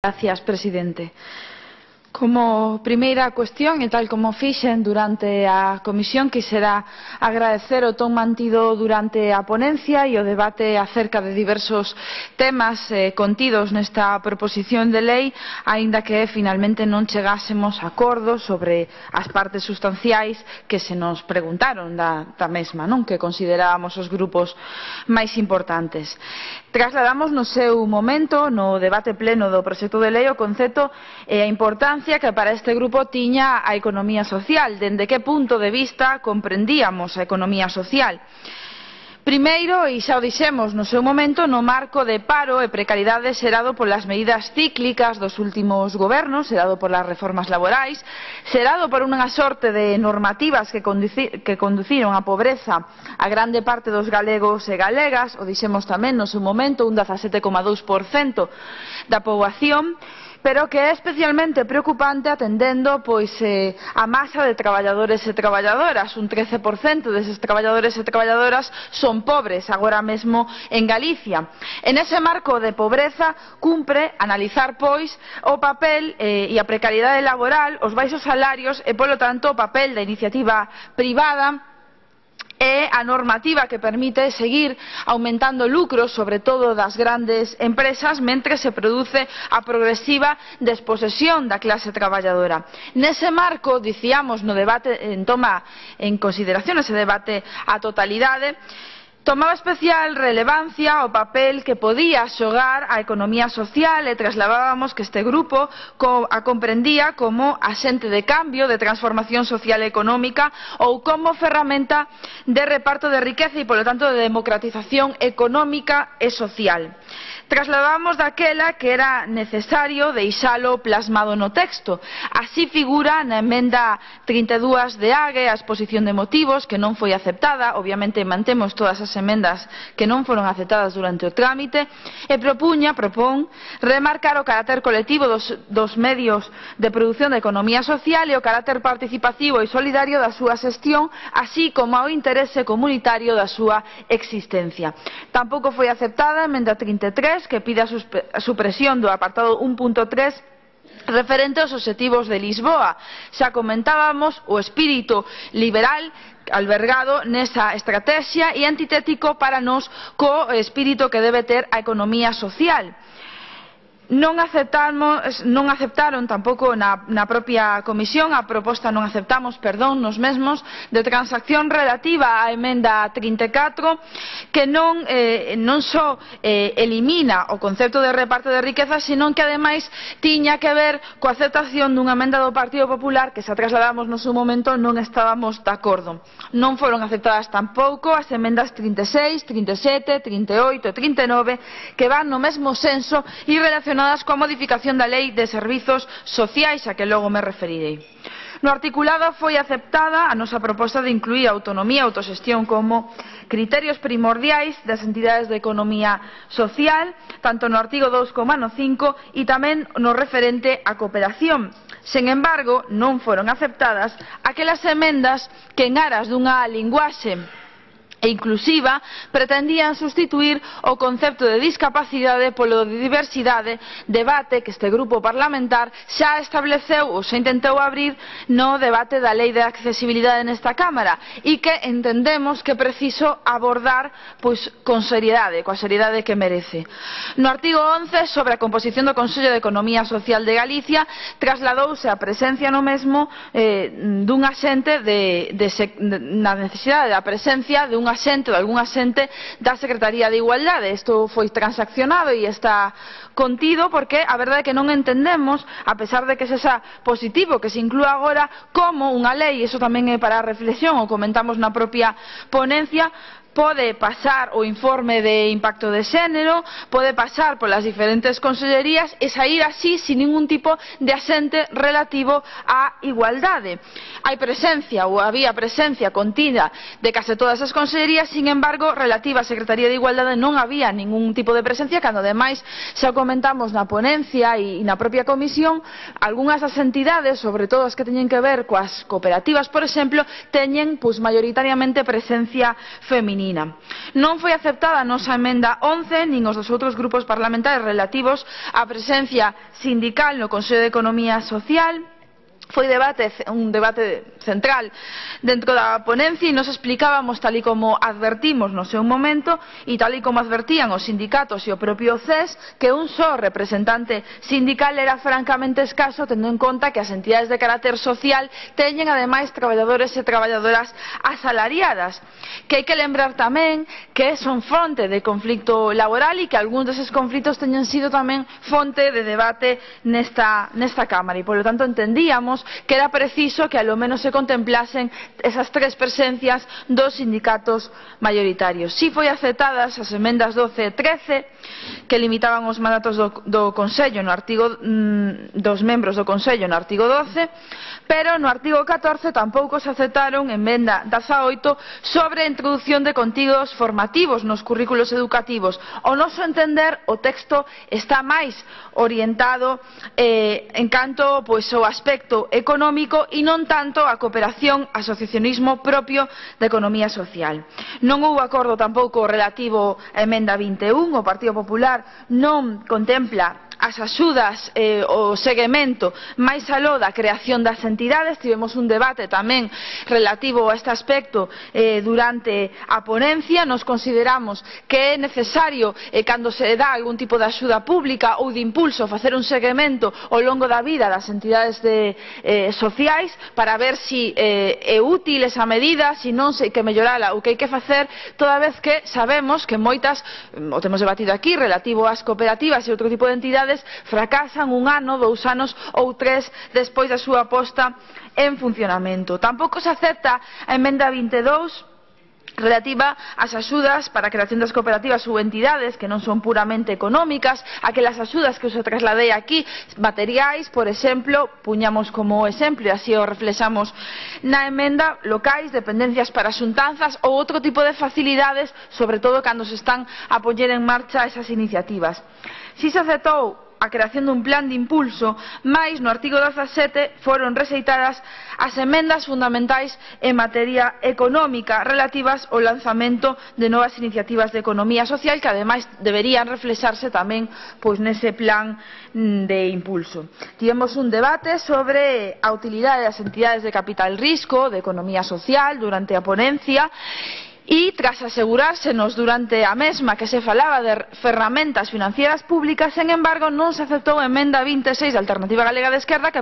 Gracias, presidente. Como primeira cuestión, e tal como fixen durante a comisión, quixera agradecer o ton mantido durante a ponencia e o debate acerca de diversos temas contidos nesta proposición de lei, aínda que finalmente non chegásemos a acordos sobre as partes sustanciais que se nos preguntaron da mesma, non? Que considerábamos os grupos máis importantes. Trasladamos no seu momento, no debate pleno do proxecto de lei, o concepto e a importancia que para este grupo tiña a economía social, dende que punto de vista comprendíamos a economía social. Primeiro, e xa o dixemos no seu momento, no marco de paro e precariedade xerado polas medidas cíclicas dos últimos gobernos, xerado polas reformas laborais, xerado por unha sorte de normativas que conduciron á pobreza a grande parte dos galegos e galegas, o dixemos tamén no seu momento, un 17,2% da poboación, pero que é especialmente preocupante atendendo a masa de traballadores e traballadoras. Un 13% deses traballadores e traballadoras son pobres agora mesmo en Galicia. En ese marco de pobreza cumpre analizar o papel e a precariedade laboral, os baixos salarios e, polo tanto, o papel da iniciativa privada e a normativa que permite seguir aumentando lucros, sobre todo das grandes empresas, mentre se produce a progresiva desposesión da clase traballadora. Nese marco, dicíamos no debate, toma en consideración ese debate a totalidade, tomaba especial relevancia o papel que podía xogar a economía social e trasladábamos que este grupo a comprendía como axente de cambio, de transformación social e económica ou como ferramenta de reparto de riqueza e, polo tanto, de democratización económica e social. Trasladábamos daquela que era necesario deixalo plasmado no texto. Así figura na emenda 32 de AGE, a exposición de motivos, que non foi aceptada. Obviamente mantemos todas as emendas que non foron aceptadas durante o trámite, e propón remarcar o carácter colectivo dos medios de produción da economía social e o carácter participativo e solidario da súa xestión, así como o interese comunitario da súa existencia. Tampouco foi aceptada a emenda 33, que pide a supresión do apartado 1.3 referente aos obxectivos de Lisboa. Xa comentábamos o espírito liberal albergado nesa estrategia e antitético para nós co espírito que debe ter a economía social. Non aceptaron tampouco na propia comisión a proposta, non aceptamos, nos mesmos, de transacción relativa á emenda 34, que non só elimina o concepto de reparto de riqueza, senón que ademais tiña que ver coa aceptación dunha emenda do Partido Popular que xa trasladamos no seu momento, non estábamos de acordo. Non foron aceptadas tampouco as emendas 36, 37, 38 e 39, que van no mesmo senso e relacionadas coa modificación da Lei de Servizos Sociais, a que logo me referirei. No articulado foi aceptada a nosa proposta de incluir a autonomía e autoxestión como criterios primordiais das entidades de economía social, tanto no artigo 2 como no 5, e tamén no referente á cooperación. Sen embargo, non foron aceptadas aquelas emendas que en aras dunha linguaxe e inclusiva pretendían sustituir o concepto de discapacidade polo de diversidade, debate que este grupo parlamentar xa estableceu ou xa intentou abrir no debate da Lei de Accesibilidade nesta Cámara e que entendemos que é preciso abordar con seriedade, coa seriedade que merece. No artigo 11, sobre a composición do Consello de Economía Social de Galicia, trasladouse a presencia no mesmo dun axente na necesidade da presencia de algún axente da Secretaría de Igualdade. Isto foi transaccionado e está contido porque a verdade é que non entendemos, a pesar de que sexa positivo que se inclúa agora como unha lei, iso tamén é para a reflexión, o comentamos na propia ponencia, pode pasar o informe de impacto de xénero, pode pasar polas diferentes consellerías e saír así sin ningún tipo de axente relativo á igualdade. Hai presencia ou había presencia contida de case todas as consellerías, sin embargo, relativa á Secretaría de Igualdade non había ningún tipo de presencia, cando ademais xa comentamos na ponencia e na propia comisión, algunhas das entidades, sobre todo as que teñen que ver coas cooperativas, por exemplo, teñen maioritariamente presencia feminina. feminina. Non foi aceptada a nosa emenda 11 nin os dos outros grupos parlamentarios relativos á presencia sindical no Consello de Economía Social. Foi un debate central dentro da ponencia e nos explicábamos, tal e como advertimos no seu momento e tal e como advertían os sindicatos e o propio CES, que un só representante sindical era francamente escaso, tendo en conta que as entidades de carácter social teñen ademais traballadores e traballadoras asalariadas, que hai que lembrar tamén que son fonte de conflito laboral e que algúns deses conflitos teñen sido tamén fonte de debate nesta Cámara e, polo tanto, entendíamos que era preciso que ao menos se contemplasen esas tres presencias dos sindicatos maioritarios. Si foi aceptadas as emendas 12 e 13 que limitaban os mandatos do Consello dos membros do Consello no artigo 12, pero no artigo 14 tampouco se aceptaron emenda 18 sobre a introdución de contidos formativos nos currículos educativos. Ao noso entender, o texto está máis orientado en canto ao aspecto económico e non tanto a cooperación, asociacionismo propio da economía social. Non houve acordo tampouco relativo á emenda 21, o Partido Popular non contempla as axudas, o seguimento máis aló da creación das entidades. Tivemos un debate tamén relativo a este aspecto durante a ponencia. Nos consideramos que é necesario, cando se dá algún tipo de axuda pública ou de impulso, facer un seguimento ao longo da vida das entidades sociais para ver se é útil esa medida, se non, se hai que mellorala ou que hai que facer, toda vez que sabemos que moitas, o temos debatido aquí, relativo ás cooperativas e outro tipo de entidades, fracasan un ano, 2 anos ou 3 despois da súa posta en funcionamento. Tampouco se acepta a emenda 22 relativa ás axudas para a creación das cooperativas ou entidades que non son puramente económicas, aquelas axudas que os trasladei aquí, materiais, por exemplo, puñamos como exemplo, e así o reflexamos na emenda, locais, dependencias para xuntanzas ou outro tipo de facilidades, sobre todo cando se están a poñer en marcha esas iniciativas. Si se aceptou a creación dun plan de impulso, mais no artigo 17 foron rexeitadas as emendas fundamentais en materia económica relativas ao lanzamento de novas iniciativas de economía social que ademais deberían reflexarse tamén nese plan de impulso. Tivemos un debate sobre a utilidade das entidades de capital risco, de economía social, durante a ponencia. E, tras asegurársenos durante a mesma que se falaba de ferramentas financieras públicas, sen embargo, non se aceptou a emenda 26 da Alternativa Galega de Esquerda que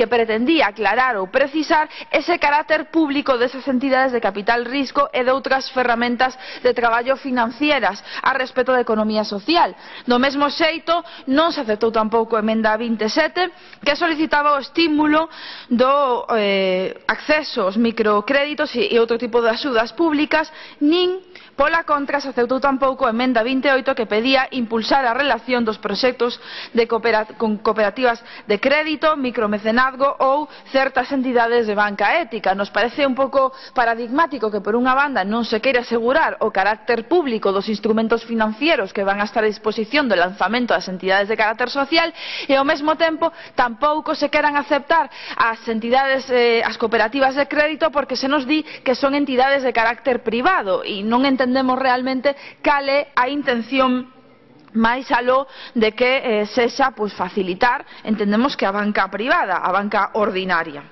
pretendía aclarar ou precisar ese carácter público desas entidades de capital risco e de outras ferramentas de traballo financieras a respecto da economía social. Do mesmo xeito, non se aceptou tampouco a emenda 27 que solicitaba o estímulo do acceso aos microcréditos e outro tipo de axudas públicas, nin pola contra se aceptou tampouco a emenda 28 que pedía impulsar a relación dos proxectos con cooperativas de crédito, micromecenazgo ou certas entidades de banca ética. Nos parece un pouco paradigmático que por unha banda non se queira asegurar o carácter público dos instrumentos financieros que van a estar a disposición do lanzamento das entidades de carácter social e ao mesmo tempo tampouco se queran aceptar as entidades, as cooperativas de crédito, porque se nos di que son entidades de carácter privado e non entendemos realmente cal é a intención máis aló de que sexa facilitar, entendemos que a banca privada, a banca ordinaria.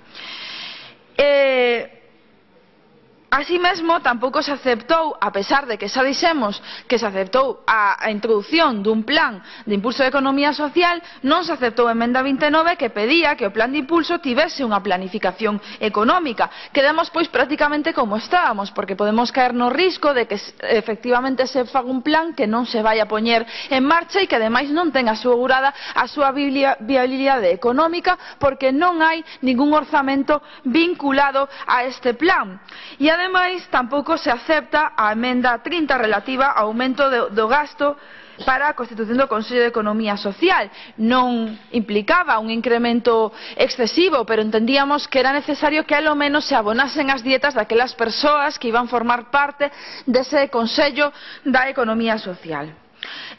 Así mesmo, tampouco se aceptou, a pesar de que xa dixemos que se aceptou a introducción dun plan de impulso de economía social, non se aceptou a emenda 29 que pedía que o plan de impulso tivese unha planificación económica. Quedamos prácticamente como estábamos, porque podemos caer no risco de que efectivamente se faga un plan que non se vai a poñer en marcha e que ademais non ten asegurada a súa viabilidade económica porque non hai ningún orzamento vinculado a este plan. E ademais tampouco se acepta a emenda 30 relativa ao aumento do gasto para a constitución do Consello de Economía Social. Non implicaba un incremento excesivo, pero entendíamos que era necesario que ao menos se abonasen as dietas daquelas persoas que iban formar parte dese Consello da Economía Social.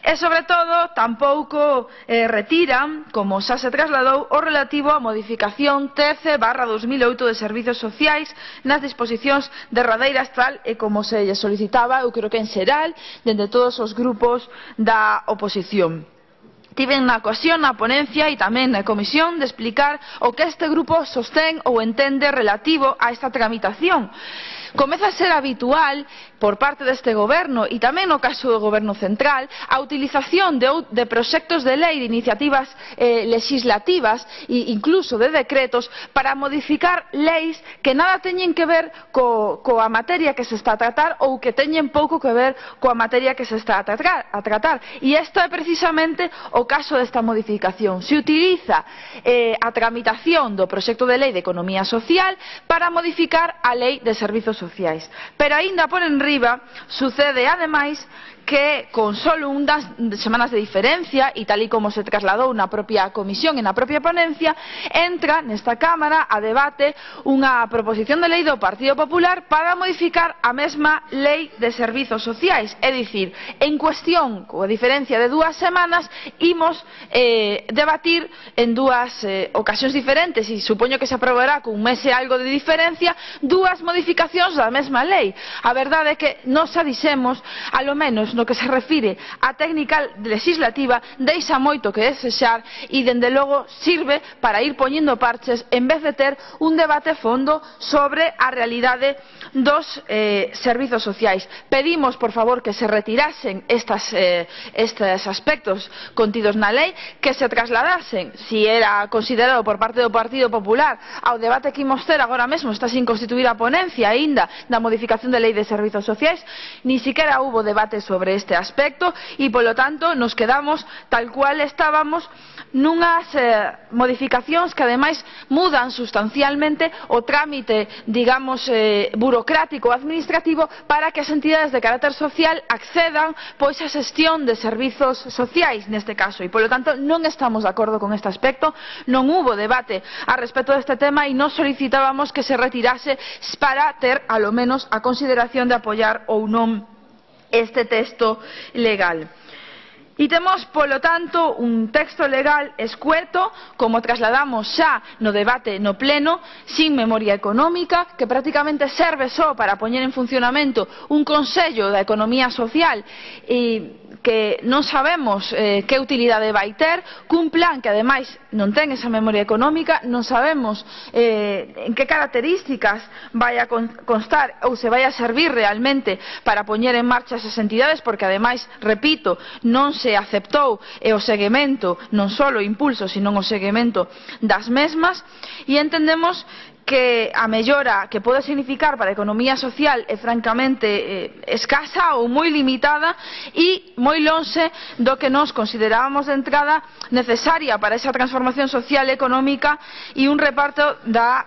E, sobre todo, tampouco retiran, como xa se trasladou, o relativo á modificación 13/2008 de Servizos Sociais nas disposicións derradeiras, tal e como se lle solicitaba, eu creo que en xeral, dende todos os grupos da oposición. Tiven na ocasión, na ponencia e tamén na comisión de explicar o que este grupo sostén ou entende relativo a esta tramitación. Comeza a ser habitual por parte deste goberno e tamén no caso do goberno central a utilización de proxectos de lei, de iniciativas legislativas e incluso de decretos para modificar leis que nada teñen que ver coa materia que se está a tratar ou que teñen pouco que ver coa materia que se está a tratar. E isto é precisamente o caso desta modificación. Se utiliza a tramitación do proxecto de lei de economía social para modificar a lei de servizos sociais. Pero aínda por enriba sucede ademais que con solo unhas semanas de diferencia e tal e como se trasladou na propia comisión e na propia ponencia, entra nesta Cámara a debate unha proposición de lei do Partido Popular para modificar a mesma lei de servizos sociais. É dicir, en cuestión, coa diferencia de 2 semanas, imos debatir en 2 ocasións diferentes e supoño que se aprobará con un mes e algo de diferencia 2 modificacións da mesma lei. A verdade é que nos a dixemos, alo menos no que se refire á técnica legislativa, deixa moito que desexar e, dende logo, sirve para ir poñendo parches en vez de ter un debate fondo sobre a realidade dos servizos sociais. Pedimos, por favor, que se retirasen estes aspectos contidos na lei, que se trasladasen, si era considerado por parte do Partido Popular, ao debate que imos ter agora mesmo. Está sin constituir a ponencia aínda da modificación da lei de servizos sociais. Ni siquiera hubo debate sobre este aspecto e, polo tanto, nos quedamos tal cual estábamos nunhas modificacións que ademais mudan sustancialmente o trámite, digamos, burocrático ou administrativo para que as entidades de carácter social accedan pois a xestión de servizos sociais neste caso, e polo tanto non estamos de acordo con este aspecto. Non hubo debate a respecto deste tema e nos solicitábamos que se retirase para ter, alo menos, a consideración de apoiar ou non este texto legal. E temos, polo tanto, un texto legal escueto, como trasladamos xa no debate no pleno, sin memoria económica, que prácticamente serve só para poñer en funcionamento un Consello da Economía Social e que non sabemos que utilidade vai ter, cun plan que ademais non ten esa memoria económica, non sabemos en que características vai a constar ou se vai a servir realmente para poñer en marcha esas entidades, porque ademais, repito, non se aceptou o seguimento, non só o impulso, sino o seguimento das mesmas, e entendemos que a mellora que pode significar para a economía social é francamente escasa ou moi limitada e moi lonxe do que nós considerábamos de entrada necesaria para esa transformación social e económica e un reparto da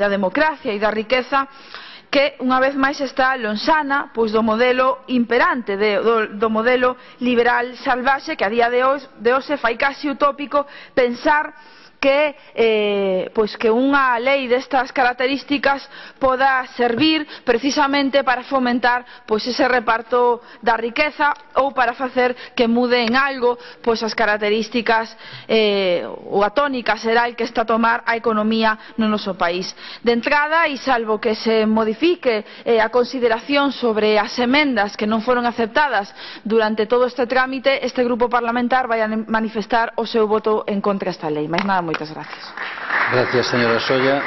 democracia e da riqueza que unha vez máis está lonxana pois do modelo imperante, do modelo liberal salvaxe, que a día de hoxe fai casi utópico pensar que unha lei destas características poda servir precisamente para fomentar ese reparto da riqueza ou para facer que mude en algo as características ou a tónica xeral que está a tomar a economía no noso país. De entrada, e salvo que se modifique a consideración sobre as emendas que non foron aceptadas durante todo este trámite, este grupo parlamentar vai a manifestar o seu voto en contra desta lei. Mais nada, moitas gracias. Gracias, señora Solla.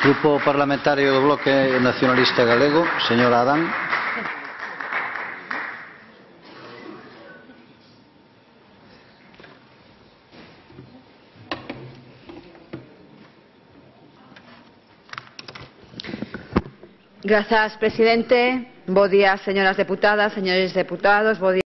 Grupo Parlamentario do Bloque Nacionalista Galego, señora Adán. Grazas, presidente. Bo día, señoras deputadas, señores deputados. Bo día.